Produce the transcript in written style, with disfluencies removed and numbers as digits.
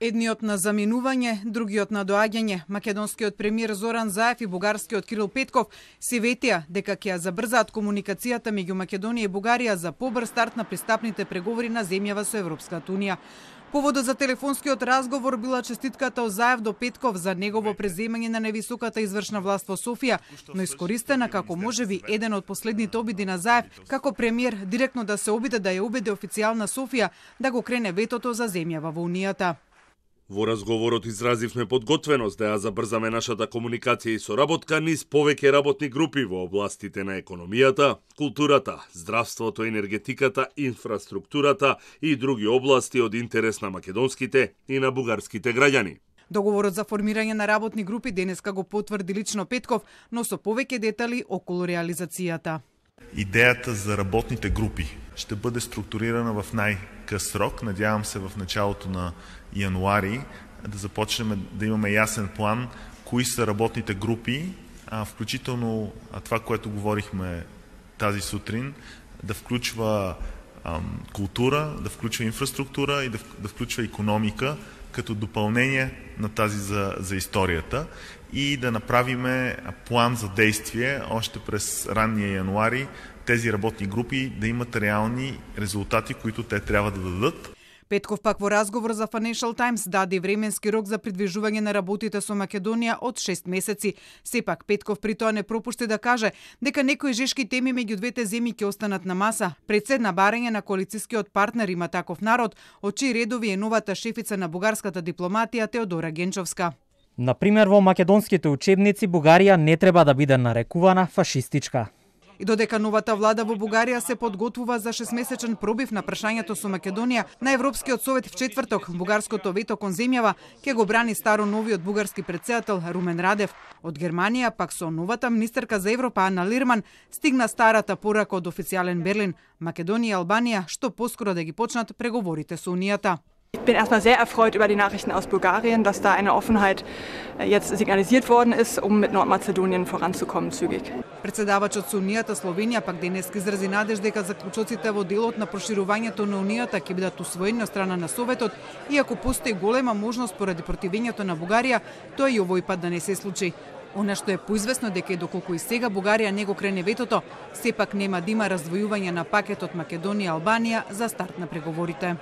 Едниот на заминување, другиот на доаѓање. Македонскиот премиер Зоран Заев и бугарскиот Кирил Петков се ветија дека ќе ја забрзаат комуникацијата меѓу Македонија и Бугарија за побрз старт на пристапните преговори на земјава со Европската унија. Поводот за телефонскиот разговор била честитката од Заев до Петков за негово преземање на невисоката извршна власт во Софија, но искористена како можеби еден од последните обиди на Заев како премиер директно да се обиде да ја убеди официјална Софија да го крене ветото за земјава во Унијата. Во разговорот изразивме подготвеност да ја забрзаме нашата комуникација и соработка низ повеќе работни групи во областите на економијата, културата, здравството, енергетиката, инфраструктурата и други области од интерес на македонските и на бугарските граѓани. Договорот за формирање на работни групи денеска го потврди лично Петков, но со повеќе детали околу реализацијата. Идејата за работните групи ще бъде структурирана в най-къс срок. Надявам се в началото на януари да започнем да имаме ясен план кои са работните групи, включително това, което говорихме тази сутрин, да включва култура, да включва инфраструктура и да включва икономика като допълнение на тази за историята и да направиме план за действие още през ранния януари тези работни групи да имат реални резултати, които те трябва да дадат. Петков пак во разговор за Financial Times даде временски рок за придвижување на работите со Македонија од 6 месеци. Сепак Петков при тоа не пропушти да каже дека некои жешки теми меѓу двете земји ќе останат на маса. Пред се на барање на коалицискиот партнер Има таков народ, од чии редови е новата шефица на бугарската дипломатија Теодора Генчовска. Например, во македонските учебници Бугарија не треба да биде нарекувана фашистичка. И додека новата влада во Бугарија се подготвува за 6-месечен пробив на прашањето со Македонија, на Европскиот совет в четврток бугарското вето кон земјава ќе го брани старо новиот бугарски претседател Румен Радев. Од Германија пак со новата министерка за Европа Ана Лирман стигна старата порака од официјален Берлин. Македонија и Албанија што поскоро да ги почнат преговорите со Унијата. Ich bin erstmal sehr erfreut über die Nachrichten aus Bulgarien, dass da eine Offenheit jetzt signalisiert worden ist, mit Nordmazedonien voranzukommen zügig. Председавачот со Унијата Словенија пак денеска изрази надеж дека заклучоците во делот на проширувањето на Унијата ќе бидат усвоени од страна на Советот, иако постои голема можност поради противењето на Бугарија, тоа и овој пат да не се случи. Она што е поизвестно дека и доколку и сега Бугарија не го крене ветото, сепак нема да има раздвојување на пакетот Македонија-Албанија за старт на преговорите.